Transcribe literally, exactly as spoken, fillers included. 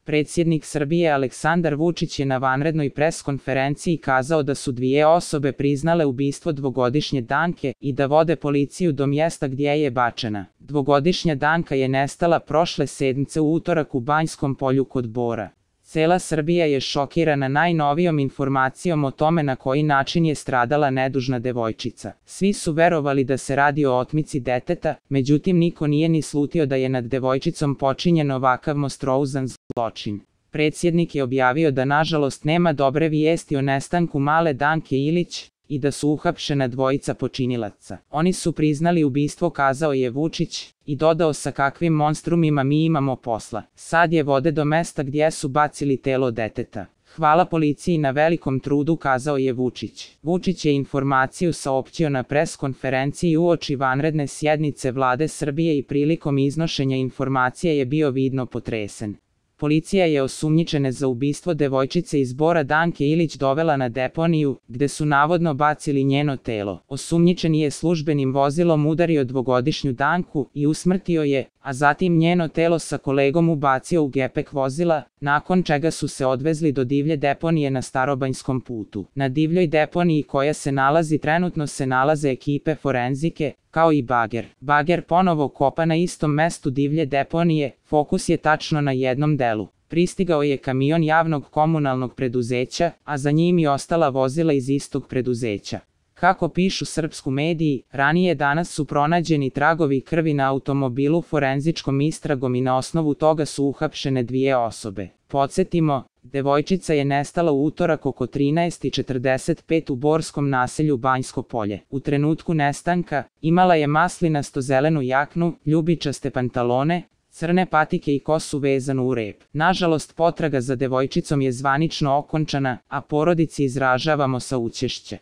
Predsjednik Srbije Aleksandar Vučić je na vanrednoj pres konferenciji kazao da su dvije osobe priznale ubistvo dvogodišnje Danke i da vode policiju do mjesta gdje je bačena. Dvogodišnja Danka je nestala prošle sedmice u utorak u Banjskom polju kod Bora. Cela Srbija je šokirana najnovijom informacijom o tome na koji način je stradala nedužna devojčica. Svi su verovali da se radi o otmici deteta, međutim niko nije ni slutio da je nad devojčicom počinjen ovakav monstruozan zločin. Predsjednik je objavio da nažalost nema dobre vijesti o nestanku male Danke Ilić i da su uhapšena dvojica počinilaca. Oni su priznali ubistvo, kazao je Vučić, i dodao sa kakvim monstrumima mi imamo posla. Sad je vode do mesta gdje su bacili telo deteta. Hvala policiji na velikom trudu, kazao je Vučić. Vučić je informaciju saopćio na pres konferenciji uoči vanredne sjednice Vlade Srbije i prilikom iznošenja informacije je bio vidno potresen. Policija je osumnjičene za ubistvo devojčice iz Bora Danke Ilić dovela na deponiju, gde su navodno bacili njeno telo. Osumnjičeni je službenim vozilom udario dvogodišnju Danku i usmrtio je, a zatim njeno telo sa kolegom ubacio u gepek vozila, nakon čega su se odvezli do divlje deponije na Starobanjskom putu. Na divljoj deponiji koja se nalazi trenutno se nalaze ekipe forenzike, kao i bager. Bager ponovo kopa na istom mestu divlje deponije, fokus je tačno na jednom delu. Pristigao je kamion javnog komunalnog preduzeća, a za njim i ostala vozila iz istog preduzeća. Kako pišu srpsku mediji, ranije danas su pronađeni tragovi krvi na automobilu forenzičkom istragom i na osnovu toga su uhapšene dvije osobe. Podsjetimo, devojčica je nestala u utorak oko trinaest i četrdeset pet u borskom naselju Banjsko polje. U trenutku nestanka, imala je maslinasto-zelenu jaknu, ljubičaste pantalone, crne patike i kosu vezanu u rep. Nažalost, potraga za devojčicom je zvanično okončana, a porodici izražavamo saučešće.